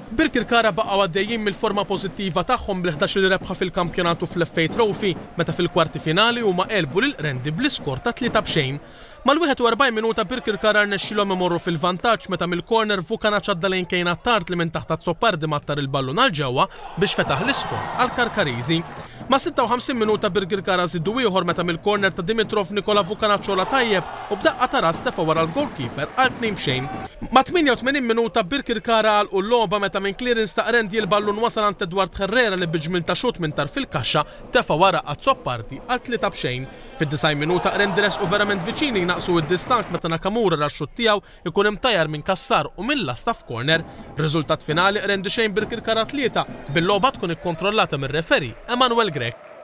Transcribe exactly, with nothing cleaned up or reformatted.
Birkirkara baqgħu għaddejjin mill-forma pożittiva tagħhom bl-ħdax-il rebħa fil-kampjonatu fl-F A Trophy meta fil-kwarti finali huma għelbu lil Qrendi bl-iskor ta' tlieta b'xejn. Mal-wieħed u erbgħin minuta, Birkirkara rnexxilhom imorru fil-vantaġġ meta mill-corner Vukanac għadda lejn Kejna Tart li minn taħt Azzopardi mattar il-ballun għal ġewwa biex fetaħ l-iskor għal Karkariżi. Ma' sitta u ħamsin minuta, Birkirkara żidu ieħor meta mill-corner ta' Dimitrov, Nikola Vukanac għola tajjeb u b'daqqa ta' ras tefa' wara l-goalkeeper għal tnejn b'xejn. Ma' tmienja u tmenin minuta, Birkirkara għalqu l-logħba meta minn clearance ta' Qrendi l-ballun wasal għand Edward Herrera li bi ġmiel ta' xut minn tarf il-kaxxa tefa' wara Azzopardi għal tlieta b'xejn. Fid-disgħin minuta, Qrendi resqu verament viċini jnaqsu id-distakk meta Nakamura ra x-xut tiegħu ikun imtajjar minn Kassar u mill-lasta f'corner. Riżultat finali, Qrendi xejn, Birkirkara tlieta, bil-logħba tkun ikkontrollata mir-referee Emanuel Grech.